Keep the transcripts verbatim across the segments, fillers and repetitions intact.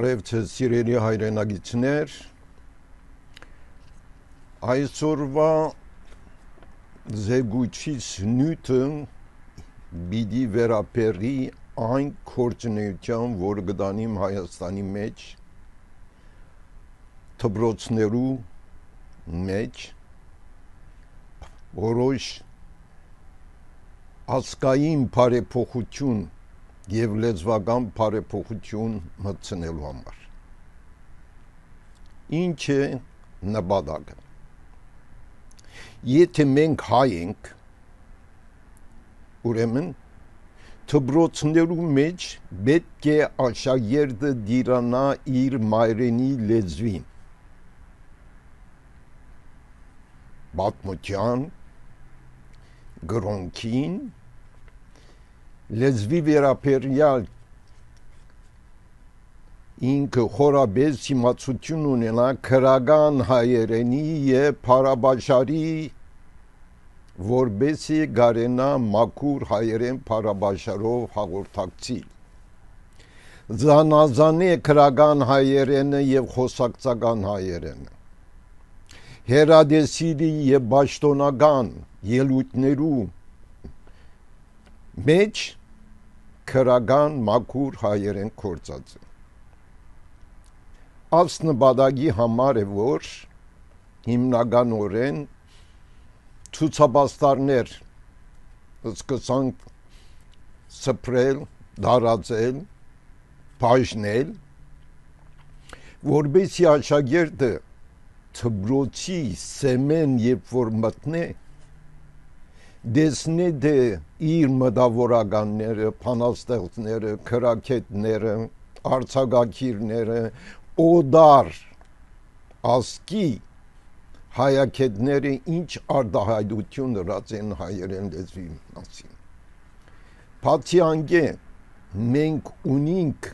Բարև ձեզ սիրելի հայրենագիտներ, այսօրվա զեկույցից նյութը պիտի վերաբերի այն գործունեության, որ գտանիմ Հայաստանի մեջ, դպրոցներու մեջ, որոշ ազգային բարեփոխություն և լեզվական բարեփոխություն մտցնելու համար։ Ինչ է նպատակը։ Եթե մենք հայ ենք, ուրեմն դպրոցներու մեջ պետք է աշակերտը դիրանա իր մայրենի լեզվին, պատմության, գրոնքին, լեզվի վերաբերյալ ինքը խորաբես իմացություն ունենա քրական հայերենի և փարաբաշարի, որպեսզի կարենա մաքուր հայերեն փարաբաշարով հաղորդակցի։ Զանազանե քրական հայերենը և խոսակցական հայերենը, հերադեսիլի և պաշտոնական ելույթներու մեջ քրական մաքուր հայերեն գործած է։ Այս նպատակի համար է, որ հիմնականորեն ցուցապաստառներ սկսանք սփռել, դարածել, բաժնել, որպեսզի աշակերտը դպրոցի սեմեն երբ որ մտնե, դեսնե թե իր մտավորականները, բանաստեղծները, քրաքետները, արձակագիրները, օդար ազգի հայագետները ինչ արտահայտություն դրած են հայերեն լեզվի մասին։ Բացի անգե մենք ունենք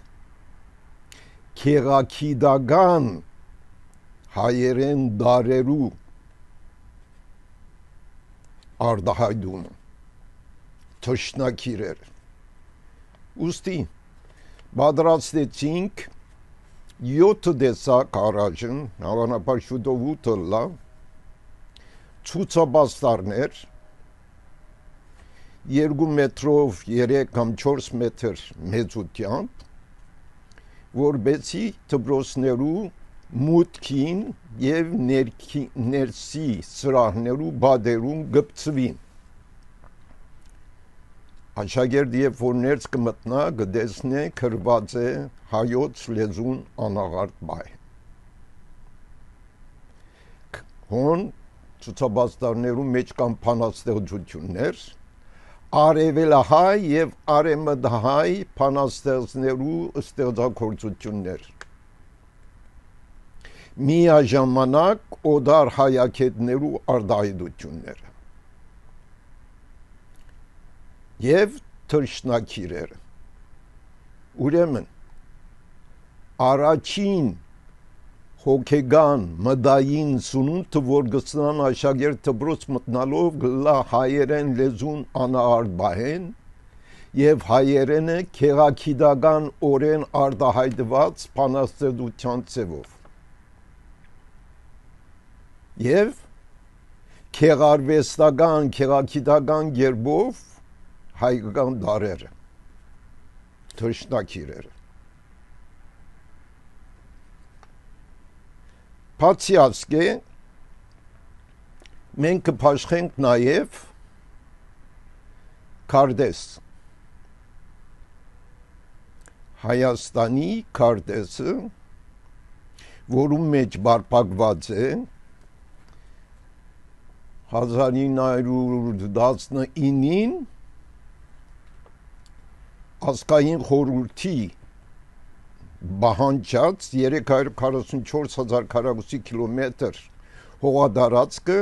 քեղագիտական հայերեն դարերու արտահայտումը, թշնակիրեր։ Ուստի պատրաստեցինք յոթ տեսակ առայժմ, հավանաբար շուտով ութը լավ, ցուցապաստառներ, երկու մետրով երեք կամ չորս մետր մեծությամբ, որպեսզի դպրոցներու մուտքին և ներսի սրահներու բադերուն գպցվին։ Աշակերտը երբ որ ներս կմտնա, կտեսնե գրված է հայոց լեզուն անաղարտ բայ։ Հոն ցուցապաստառներու մեջ կան բանաստեղծություններ, արևելահայ և արևմտահայ բանաստեղծներու ստեղծագործություններ։ Միաժամանակ օդար հայագետներու արտահայտությունները և թռչնակիրերը։ Ուրեմն առաջին հոգեգան մտային սնունդը, որ գցնան աշակերտ դպրոց մտնալով, գլա հայերեն լեզուն անաղարտ բայեն և հայերենը քեղագիտական օրեն արտահայտված բանաստեղծության ձևով և քեղարվեստական, քեղագիտական կերպով հայկական դարերը, թռչնակիրերը։ Բացի ասկե, մենք կփաշխենք նաև քարտեզ։ Հայաստանի քարտեզը, որում մեջ պարփակված է հազար ինը հարյուր տասնինին ազգային խորհրդի պահանջած երեք հարյուր քառասունչորս հազար քառակուսի կիլոմետր հողատարածքը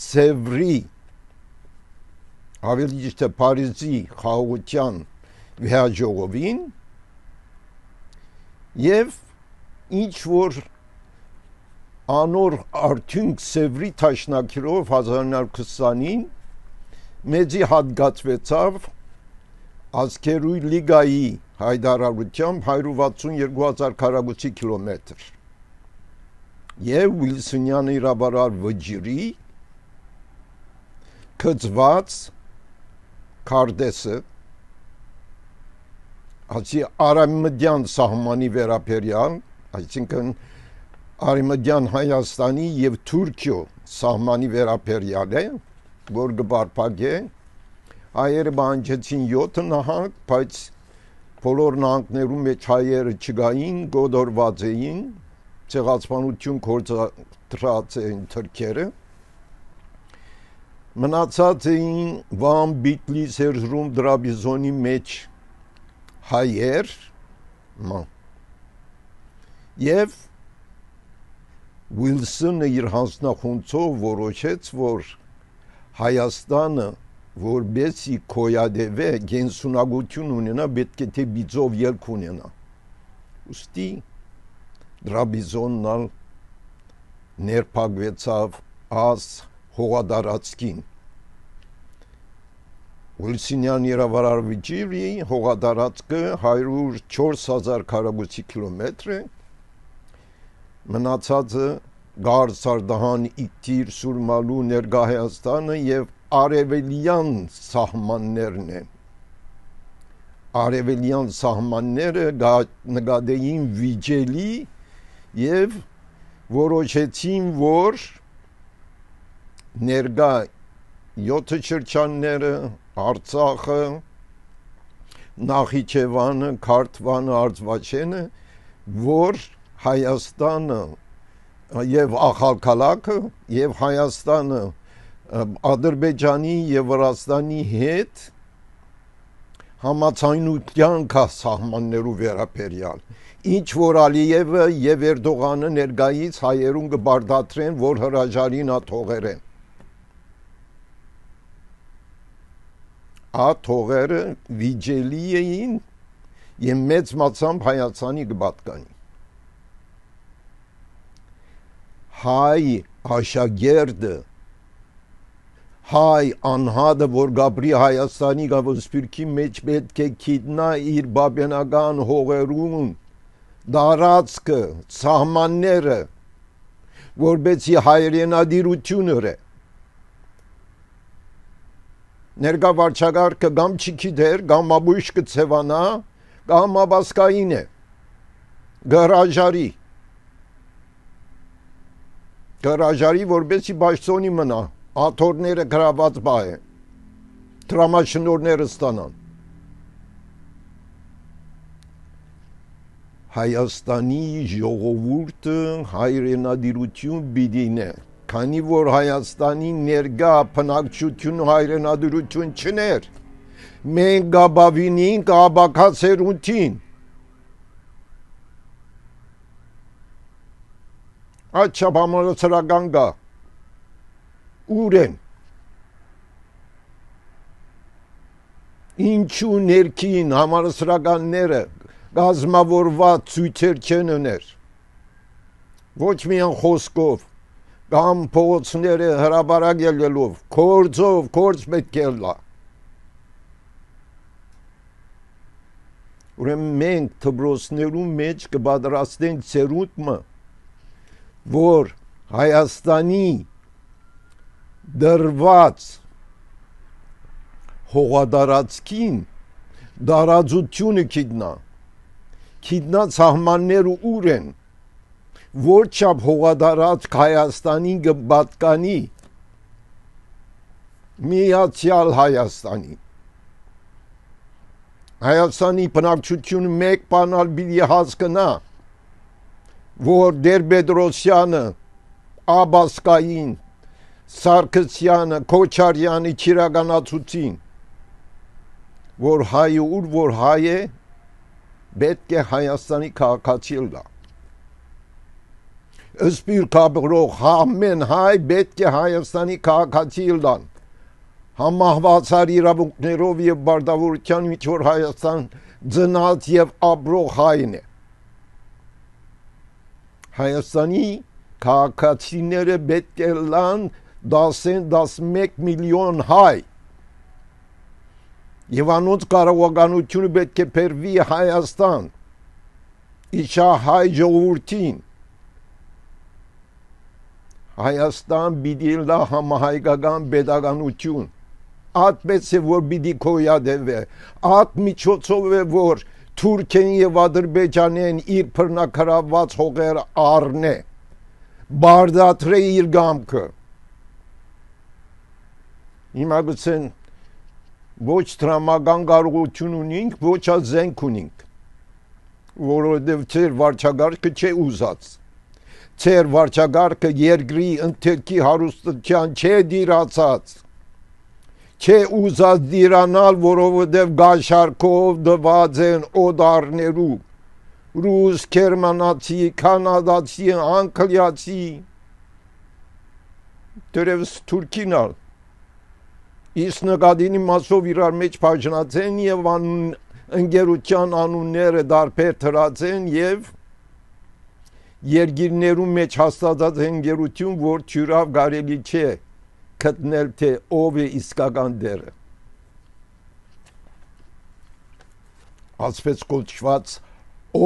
Սևրի, ավելի ճիշտ է Փարիզի խաղաղության վեհաժողովին և ինչ որ անոր արդյունք Սևրի թաշնակիրով հազար ինը հարյուր քսանին մեծի հատկացվեցավ Ազգերույն լիգայի հայտարարությամբ հարյուր վաթսունյոթ հազար քառակուսի կիլոմետր եւ Վիլսոնյան իրավարար վճիրի կցված քարտեզը ասի արամդյան սահմանի վերաբերյալ, այսինքն արամդյան Հայաստանի եւ Թուրքիո սահմանի վերաբերյալ է, որ գբարփակե հայերը բանջեցին յոթ նահանգ, բայց բոլոր նահանգներում մեջ հայերը չգային, գոդորված էին, ցեղասպանություն գործադրած էին թուրքերը, մնացած էին Վան, Բիտլիս, Էրզրում, Դրաբիզոնի մեջ հայեր եւ Վիլսոնը իր հանձնախումբով որոշեց, որ Հայաստանը որբեսի կոյադևե գենսունակություն ունենա, պետք է թե բիձով ելք ունենա։ Ուստի Դրաբիզոնն ներփակվեցավ աս հողադարածքին։ Վիլսոնյան իրավարար վճիրի հողադարածքը հարյուր չորս հազար քառակուսի կիլոմետր է, մնացածը Գարսարդահան, Իգտիր, Սուրմալու, Ներկա Հայաստանը եւ արևելյան սահմաններն են։ Արևելյան սահմանները նկատեին վիճելի եւ որոշեցին, որ ներկա յոթ շրջանները, Արցախը, Նախիջևանը, Քարթվանը, Արցվաշենը, որ Հայաստանը եւ Ախալքալաքը եւ Հայաստանը Ադրբեջանի եւ Վրաստանի հետ համացայնության կա սահմաններու վերաբերյալ, ինչ որ Ալիևը եւ Էրդողանը ներկայից հայերուն կբարդատրեն, որ հրաժարին աթողերեն։ Աթողերը վիճելի էին եւ մեծ մասամբ Հայաստանի կպատկանի։ Հայ աշակերտը, հայ անհատը, որ գաբրի Հայաստանի գավոսպիրքի մեջ պետք է գիտնա իր բաբենական հողերուն դարածքը, սահմանները, որբեցի հայրենադիրությունը է։ Ներկա վարչագահը կամ չգիտեր, կամ ամբույշ կցևանա, կամ աբասկային է, գարաժարի, գարաժարի, որբեսի բաշտոնի մնա, աթորները գրաված բա է, տրամաշնորները ստանան։ Հայաստանի ժողովուրդը հայրենադիրություն պիտի քանի որ Հայաստանի ներկա բնակչություն հայրենադիրություն չներ, մենք գաբավինին կաբակացերունտին։ Աչապ համալսարական գա, ուր են, ինչու ներքին համալսարանները գազմավորված ցույցեր չեն ուներ, ոչ միայն խոսքով, կամ փողոցները հրաբարակ ելելով, կորձով, կորձ պետք է լա։ Ուրեմն մենք դպրոցներու մեջ կպատրաստենք ցերուտը, որ Հայաստանի դրված հողադարածքին դարաձությունը գիտնա, գիտնա սահմանները ուր են, որ չափ հողադարածք Հայաստանին կպատկանի Միացյալ Հայաստանի։ Հայաստանի բնակչությունը մեկ բանալ պիտի հասկանա, որ Տեր-Պետրոսյանը, Աբասկային, Սարգսյանը, Քոչարյանը չիրականացուցին, որ հայը ուր որ հայ է, պետք է Հայաստանի քաղաքացի լա։ Սպիր կաբրող ամեն հայ պետք է Հայաստանի քաղաքացի լան, համահվածար իրավունքներով եւ բարտավորության ինչ որ Հայաստան ծնած եւ ապրող հայն է։ Հայաստանի քաղաքացիները պետք է լան դասեն դասմեկ միլիոն հայ Եվ անոնց կարողականությունը պետք է բերվի Հայաստան, իշա հայ ժողովրդին։ Հայաստան պիտի լա համահայկական պետականություն, այդպես է որ պիտի գոյատևե, այդ միջոցով է որ Թուրքիան եւ Ադրբեջանեն իր բռնակրաված հողերը առնե, բարդատրե իր գամքը։ Հիմա գուցեն ոչ տրամական կարողություն ունենք, ոչ էլ զենք ունենք, որովհետև ծեր վարչագարկը չէ ուզած, ծեր վարչագարկը երկրի ընթերքի հարուստության չէ դիրացած, չէ ուզած դիրանալ, որովհետև գաշարքով դված են օդարներու, ռուս, գերմանացի, կանադացի, անգլիացի, դերևս թուրքին ալ, իսկ նկատինի մասով իրար մեջ բաժնած են եւ անուն ընկերության անունները դարբեր դրած են եւ երկիրներու մեջ հաստատած ընկերություն, որ ճյուրավ կարելի չէ գտնել թե ով է իսկական դերը։ Ասպես կոչված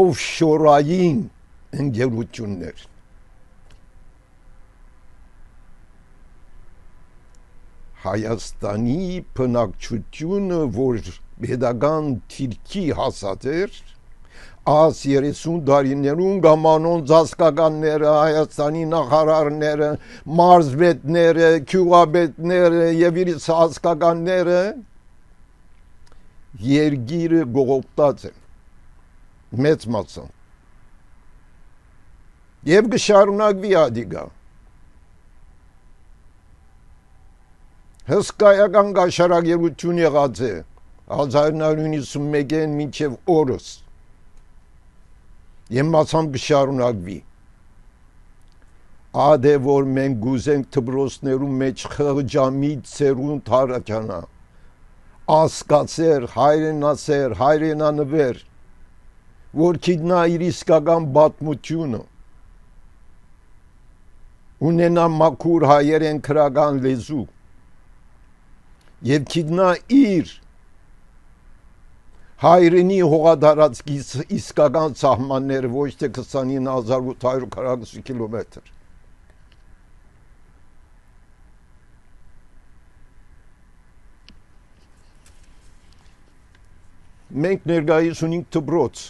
օֆշորային ընկերություններ։ Հայաստանի բնակչությունը, որ պետական թիրքի հասած էր, աս երեսուն դարիներուն գամանոն զասկականները, Հայաստանի նախարարները, մարզպետները, գյուղապետները եւ իր զասկականները երգիրը գողոպտած են, մեծ մասը։ Եվ գշարունակվի ադիգա։ Հսկայական գաշարագերություն եղած է հազար նորը նույնսունմեկին մինչև օրս եւ մասամբ կշարունակվի։ Ադե որ մենք գուզենք դպրոցներու մեջ խղճամիտ սերունդ հարաճանա, ասկացեր, հայրենասեր, հայրենանվեր, որ գիտնա իր իսկական պատմությունը, ունենա մաքուր հայերեն քրական լեզու, եւ գիտնա իր հայրենի հողադարածքի իսկական սահմանները, ոչ թե քսանինը հազար ութ հարյուր քառակուսի կիլոմետր։ Մենք ներկայիս ունենք դպրոց,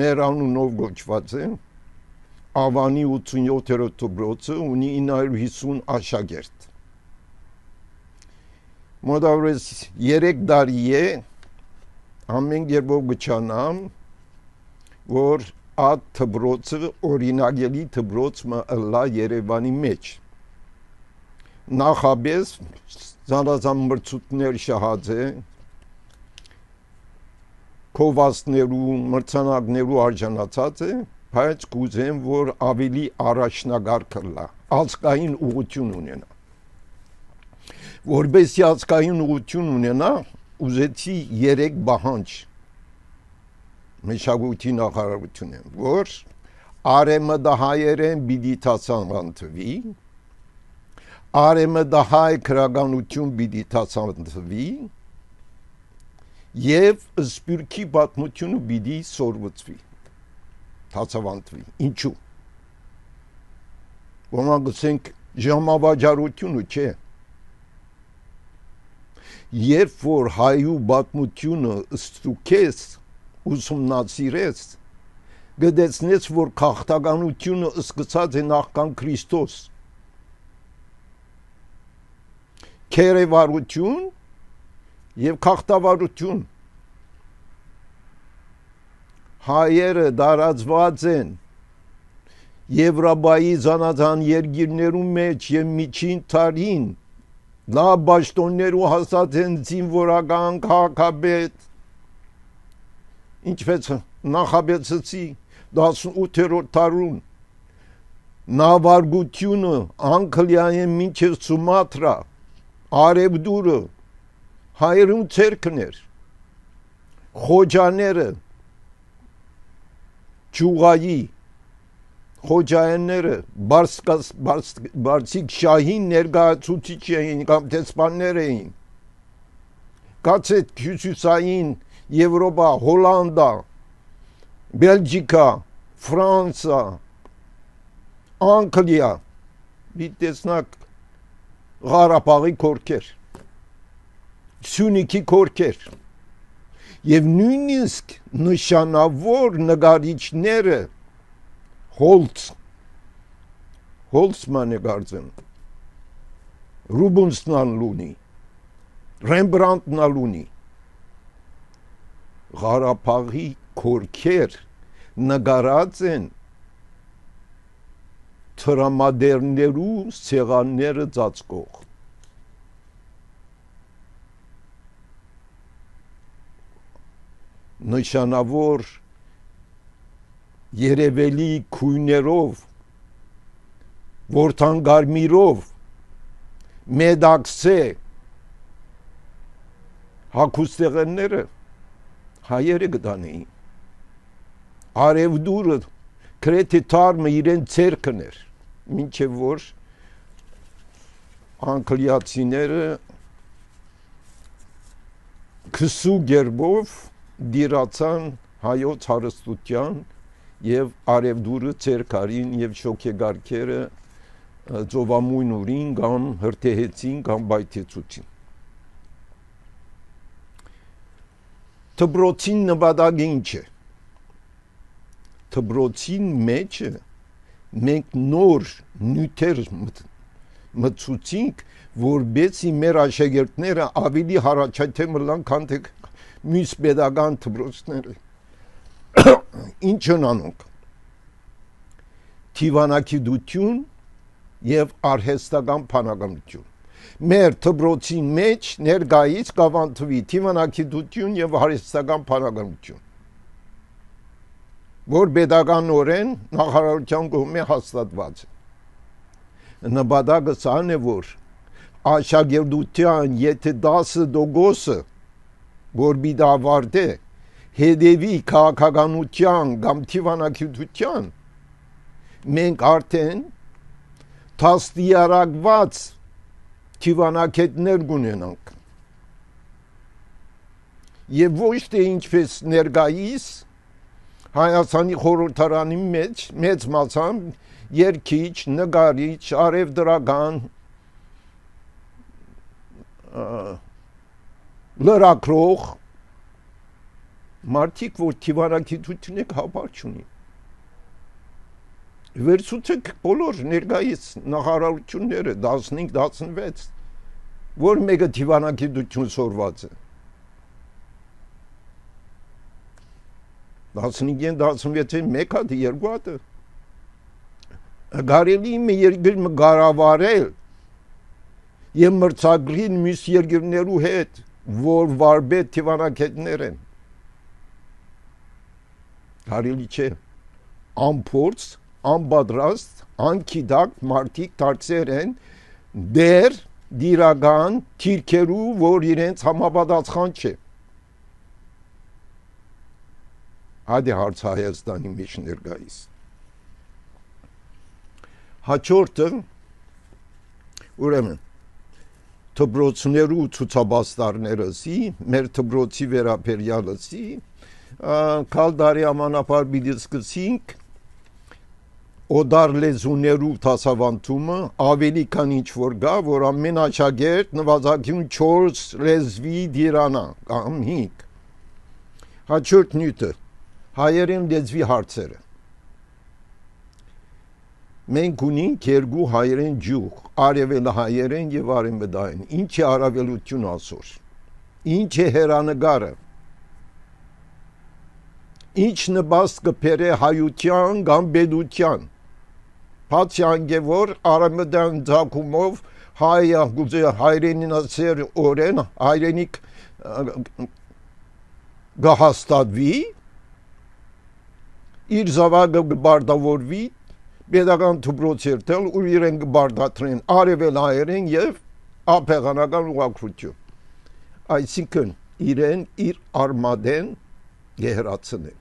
մեր անունով գոչված է, Ավանի ութսունյոթերորդ դպրոցը ունի ինը հարյուր հիսուն աշակերտ։ Մոտավորապես երեք տարի է ամեն երբով գճանամ, որ այդ դպրոցը օրինագելի դպրոց մը ըլլա Երևանի մեջ։ Նախաբես զանազան մրցույթներ շահած է, քովասներու, մրցանակներու արժանացած է, բայց կուզեմ, որ ավելի առաջնագար կլա, ազգային ուղղություն ունենա։ Որբեսի ազգային ուղղություն ունենա, ուզեցի երեք բահանջ մշակույթի նախարարությունն, որ արեմդահայերեն պիտի դասավանդվի, արեմդահայ քրագանություն պիտի դասավանդվի եւ սպյուրքի պատմությունը պիտի սորվծվի, դասավանդվի։ Ինչու՞։ Ոմանք ասենք ժամավաճառությունը չէ։ Երբ որ հայու պատմությունը ստուգես, ուսումնասիրես, գտեցնես, որ քաղաքականությունը սկսած է նախքան Քրիստոս, քերեվարություն եւ քաղաքավարություն, հայերը դարածված են Եվրոպայի զանազան երկիրներու մեջ եւ միջին տարին նա բաշտոններու հասած են զինվորական քաղաքապետ, ինչպես նախաբեցեցի տասնութերորդ դարուն, նավարգությունը Անգլիայեն մինչև Սումաթրա, Արևդուրը հայերուն ցերկն էր, խոջաները, ճուղայի, խոջայանները, բարձիկ շահին ներկայացուցիչ էին կամ դեսպաններ էին, կացեք հյուսիսային Եվրոպա, Հոլանդա, Բելգիկա, Ֆրանսա, Անգլիա, մի տեսնակ Ղարաբաղի կորքեր, Սյունիքի կորքեր, եւ նույնիսկ նշանավոր նկարիչները Հոլց, Հոլցմանը գարձեն, Ռուբենսն ալունի, Ռեմբրանտն ալունի, Ղարաբաղի կորքեր նկարած են տրամադերներու սեղանները ծածկող։ Նշանավոր երևելի քույներով, որդանգարմիրով, մեդաքսե հագուստեղենները հայերը գտանեին։ Արևդուրը գրեթե թարմը իրեն ցերկն էր, մինչև որ անգլիացիները քսու գերբով դիրացան հայոց հարստության եւ արևդուրը ցերկարին եւ շոքեգարքերը ծովամույն ուրին կամ հրթեհեցին կամ բայթեցուցին։ Թբրոցին նպատակը ինչ է։ Թբրոցին մեջը մենք նոր նյութեր մտցուցինք, որբեսի մեր աշակերտները ավելի հարաճայթեմ լան քան թե մյուս pedagogan թբրոցները։ Ինչ են անում։ Թիվանակիդություն եւ արհեստական փանագամություն։ Մեր թբրոցի մեջ ներկայից կավանտվի թիվանակիդություն եւ արհեստական փանագամություն, որ pedagoganորեն նախարարության կողմից հաստատված է։ Նպատակը սան է, որ աշակերտության եթե տասը տոկոսը որ բիդ ավարտե հետևի քաղաքականության կամ թիվանակիդության, մենք արդեն տասնյարակված թիվանակետներ կունենանք եւ ոչ թե ինչպես ներկայիս Հայաստանի խորհրդարանի մեջ մեծ մասամբ երգիչ, նկարիչ, արևդրական լրագրող մարդիկ, որ թիվանակիդությունը հավար չունի։ Վերցուցեք բոլոր ներկայիս նախարարությունները տասնհինգ տասնվեց, որ մեկը թիվանակիդություն սորված է։ տասնհինգ տասնվեցին մեկ հատ, երկու հատ։ Կարելի է երկրը կառավարել եւ մրցակցել մյուս երկրներու հետ, որ վարպետ թիվանակետներ են։ Կարելի չէ։ Անփորձ, անպատրաստ, անկիդակ մարդիկ դարձել են դեր դիրական թիրքերու, որ իրենց համապատասխան չէ։ Ադի հարց Հայաստանի մեջ ներկայիս։ Հաջորդը ուրեմն թբրոցներու ցուցաբաստարներըսի, մեր թբրոցի վերաբերյալըսի, կալդարի ամանապար բիդի սկսինք օդար լեզուներու դասավանդումը ավելի քան ինչ որ գա, որ ամեն աշակերտ նվազագույն չորս լեզվի դիրանա կամ հինգ։ Հաջորդ նյութը հայերեն լեզվի հարցերը։ Մենք ունենք երկու հայերեն ջուղ, արևելահայերեն եւ արևմտային։ Ինչ է առավելություն ասոր։ Ինչ է հերանեկարը։ Ինչ նպաստ կբերե հայության կամ պետության։ Բացի անգե որ արևմտյան ցակումով հայը գուզե հայրենինասեր օրեն հայրենիք գահստատվի իր զավակը կբարտավորվի pedagogan թբրոց երթել ու իրեն կբարտադրեն արևելահայերեն եւ ափեղանական ուղղակրություն։ Այսինքն իրեն իր արմադեն գերացնեն։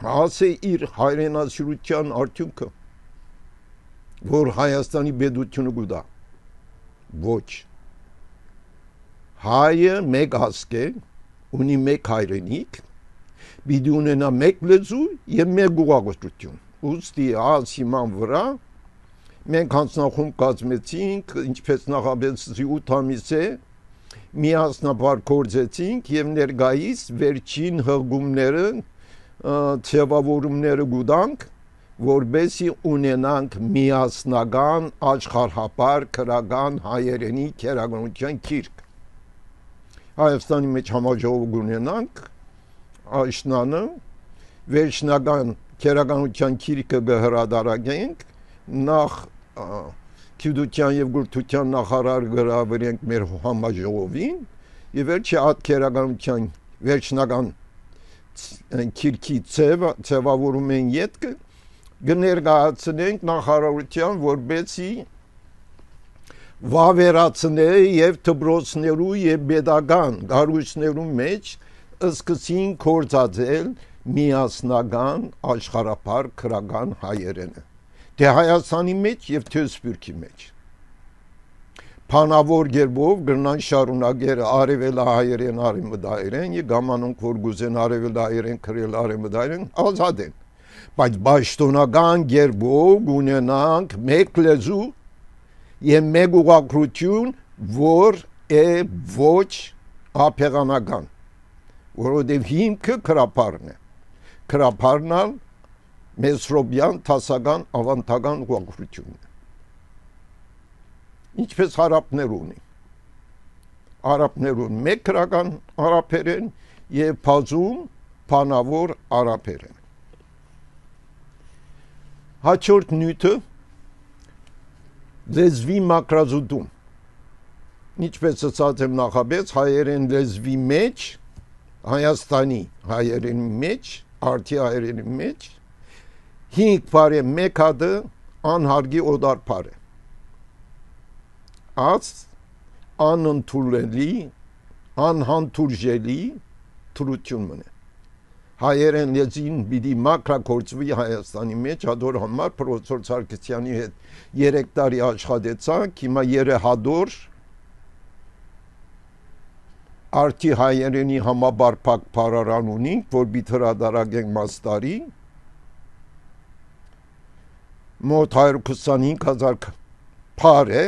Հասե իր հայրենասիրության արդյունքը, որ Հայաստանի պետությունը գուտա։ Ոչ։ հայը մեկ ազգ է, ունի մեկ հայրենիք, պիտի ունենա մեկ լեզու եւ մեկ ուղղություն։ Ուստի այս հիման վրա մենք հանձնախումբ կազմեցինք, ինչպես նախաբեցի ութ ամիս է, միասնաբար գործեցինք եւ ներկայիս վերջին հղումները, ձևավորումները գուտանք, որբեսի ունենանք միասնական աշխարհապար քրական հայերենի քերականության գիրք։ Հայաստանի մեջ համաժողով ունենանք, աշնանը վերջնական քերականության գիրքը կհրադարագենք, նախ գիտության եւ գրթության նախարար գրավենք մեր համաժողովին եւ վերջի այդ քերականության վերջնական գիրքի ձևավորում են յետքը կներկայացնենք նախարարության, որբեսի վավերացնե եւ դպրոցներու եւ pedagogan գարուչներու մեջ սկսին կործածել միասնական աշխարհապար քրական հայերենը թե Հայաստանի մեջ եւ թե Սփյուռքի մեջ Փանավոր գերբով գրնան շարունակեր արևելահայերեն արևմտահայերեն եւ գամանոնք որ գուզեն արևելահայերեն քրել արևմտահայերեն ազատ են բայց պաշտոնական գերբով ունենանք մեկ լեզու եւ մեկ ուղղություն որ է ոչ ափեղանական որովհետեւ հիմքը քրապարն է քրապարնալ Մեսրոբյան տասական ավանդական ուղղությունն է ինչպես հարապներ ունի արաբներուն մեկ քրական արաբերեն եւ բազում փանավոր արաբերեն հաջորդ նյութը լեզվի մակրազուտում ինչպես ասած եմ նախաբեց հայերեն լեզվի մեջ Հայաստանի հայերենի մեջ արդի հայերենի մեջ հինգ բարե մեկ հատը անհարգի օդար բարե աց անընդունելի անհանդուրժելի թրություն մնե հայերեն լեզին պիտի մակրագործվի Հայաստանի մեջ հադոր համար պրոֆեսոր Սարգսյանի հետ երեք տարի աշխատեցանք հիմա երեհադոր արդի հայերենի համաբարփակ փարարան ունենք որ պիտի հրադարագենք մաստարի մոտ հարյուր քսանհինգ հազար փար է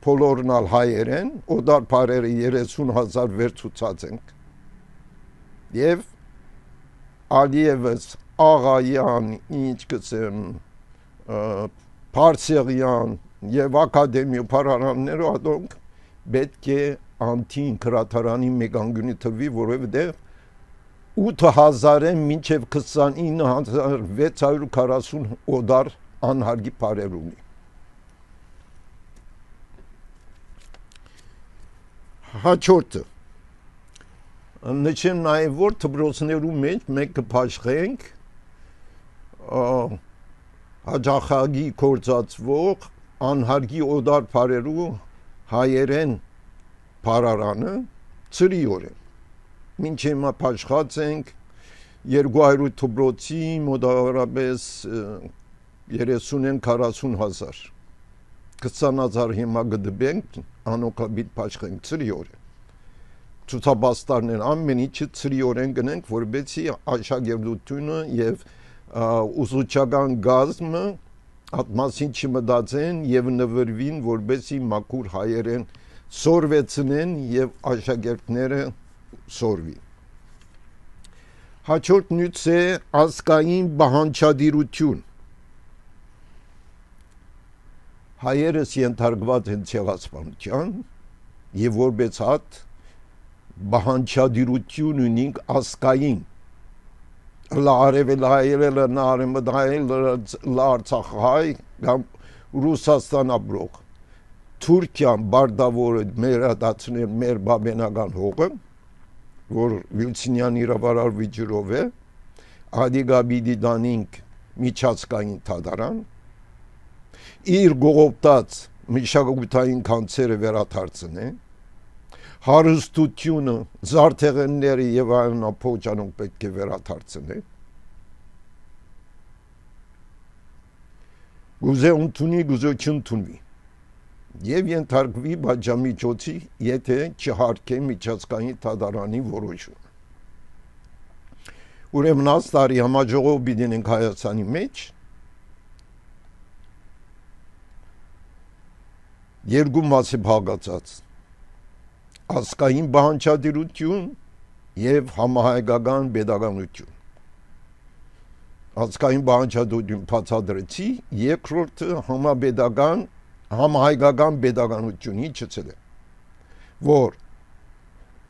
բոլորնալ հայերեն օդար փարերը երեսուն հազար վերցուցած ենք եւ Ալիևս Աղայան ինչ կսեմ Փարսեղյան եւ ակադեմիա փարարանները ադոնք պետք է անտին քրատարանի մեգանգունի թվի որովհետեւ ութ հազարը մինչև քսանինը հազար վեց հարյուր քառասուն օդար անհարգի բարեր ունի հաջորդը նշեմ նաև որ դպրոցներու մեջ մենք կփաշխենք հաջախագի կործածվող անհարգի օդար բարերու հայերեն բարարանը ծրիորեն մինչ հիմա փաշխած ենք երկու հարյուր դպրոցի մոտավորապես երեսուն քառասուն հազար քսան հազար հիմա գդբենք անոկաբիտ փաշխենք ծրիորեն ցուցաբաստարներ ամեն ինչը ծրիորեն գնենք որբեցի աշակերտությունը եւ ուսուցչական գազմը ատմասին չմտածեն եւ նվիրվին որբեցի մաքուր հայերեն սորվեցնեն եւ աշակերտները սորվի հաջորդ նյութ է ազգային բանջարդիրություն հայերս ենթարկված են ցեղասպանության եւ որպես հատ բանջարդիրություն ունենք ազգային լարևելայելը նարմդայել լարցախայ կամ Ռուսաստան ապրող Թուրքիան բարդավորը մեր հատացնել մեր բաբենական հողը որ Վիլցինյան իրավարար վիճրով է ադիգաբիդի դանինք միջազգային թադարան իր գողոպտած մշակութային կանցերը վերաթարցնե հարստությունը զարթեղենները եւ այլն ապոճանում պետք է վերաթարցնե գուզե ունտունի գուզե չունտունի եւ ենթարկվի բաժամիջոցի, եթե չհարկե միջազգային դատարանի որոշում։ Ուրեմն աստարի համաժողով բիդենք Հայաստանի մեջ երկու մասի բաղկացած ազգային բանջարդիրություն եւ համահայկական pedagogiություն։ Ազգային բանջարդություն բացադրեցի, երկրորդը համապետական համահայկական pedagogiությունի չցել է, որ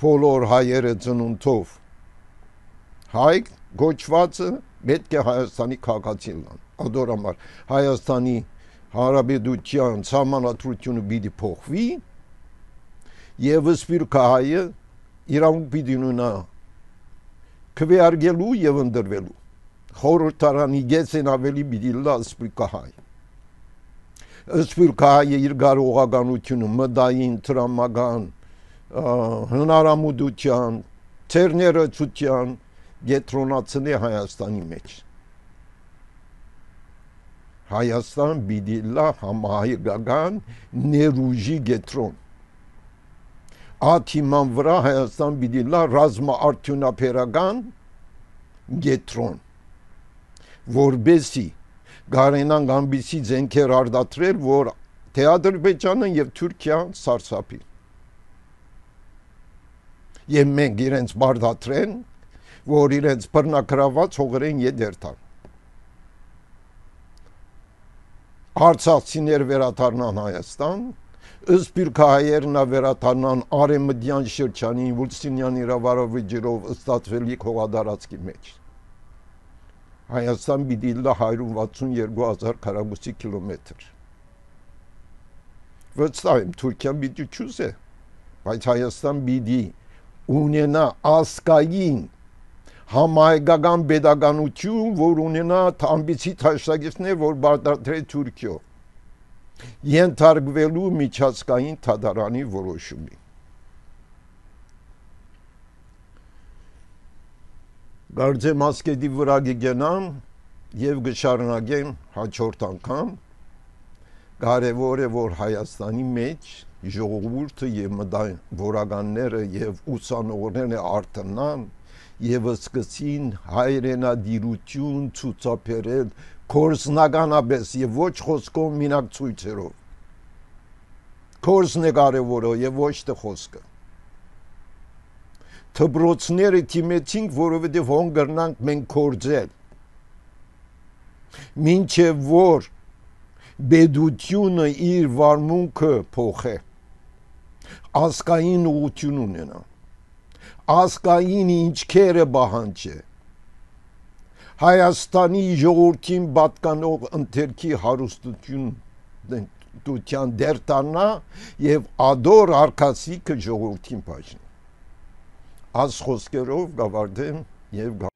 բոլոր հայերը ծնունդով հայ գոչվածը պետք է Հայաստանի քաղաքացի լինեն։ Ադորամար Հայաստանի Հանրապետության սահմանադրությունը պիտի փոխվի եւ սպիրկա հայը իրավունք պիտի ունենա քվեարկելու եւ ընդրվելու։ Խորհրդարանի գեցեն ավելի պիտի լա սպիրկա հայ։ Սպիրկա հայը իր կարողականությունը մտային, տրամական, հնարամուտության, ցերներեցության գետրոնացնի Հայաստանի մեջ։ Հայաստան պիտի լա համահայկական ներուժի գետրոն։ Աթիման վրա Հայաստան պիտի լա ռազմաարդյունաբերական գետրոն, որբեսի գարենան գամբիսի ձենքեր արդատրել, որ թե Ադրբեջանը եւ Թուրքիան սարսափի։ Եվ մենք իրենց բարդատրեն, որ իրենց բռնակրաված հողերեն եդերտան։ Արցախցիներ վերադառնան Հայաստան, սպիրկահայերն վերադառնան արևմտյան շրջանի Վուլստինյան իրավարավեջերով ստացվելիք հողադարածքի մեջ։ Հայաստան պիտի լա հարյուր վաթսունյոթ հազար քառակուսի կիլոմետր։ Վստահ եմ Թուրքիան պիտի չուզե, բայց Հայաստան պիտի ունենա ազգային համահայկական pedagogiություն, որ ունենա ամբիցի թաշտակիցներ, որ բարդատրե Թուրքիո, ենթարկվելու միջազգային դատարանի որոշումի։ Կարծեմ ասկետի վրա կգնամ եւ կշարունակեմ հաջորդ անգամ։ Կարևոր է, որ Հայաստանի մեջ ժողովուրդը եւ մտավորականները եւ ուսանողները արթնան եւ սկսին հայրենադիրություն ցուցաբերել կորսնականապես եւ ոչ խոսքով մինակ ցույցերով։ Կորսն է կարևորը եւ ոչ թե խոսքը։ Թբրոցները թիմեցինք, որովհետև հոն գրնանք մենք կործել։ Մինչև որ բեդությունը իր վարմունքը փոխե, ազգային ուղղություն ունենա, ազգային ինչքերը բահանջե, Հայաստանի ժողովրդին պատկանող ընթերքի հարուստություն դության դերտանա եւ ադոր արկասիկը ժողովրդին բաժնի։ Աս խոսքերով գավարդեմ եւ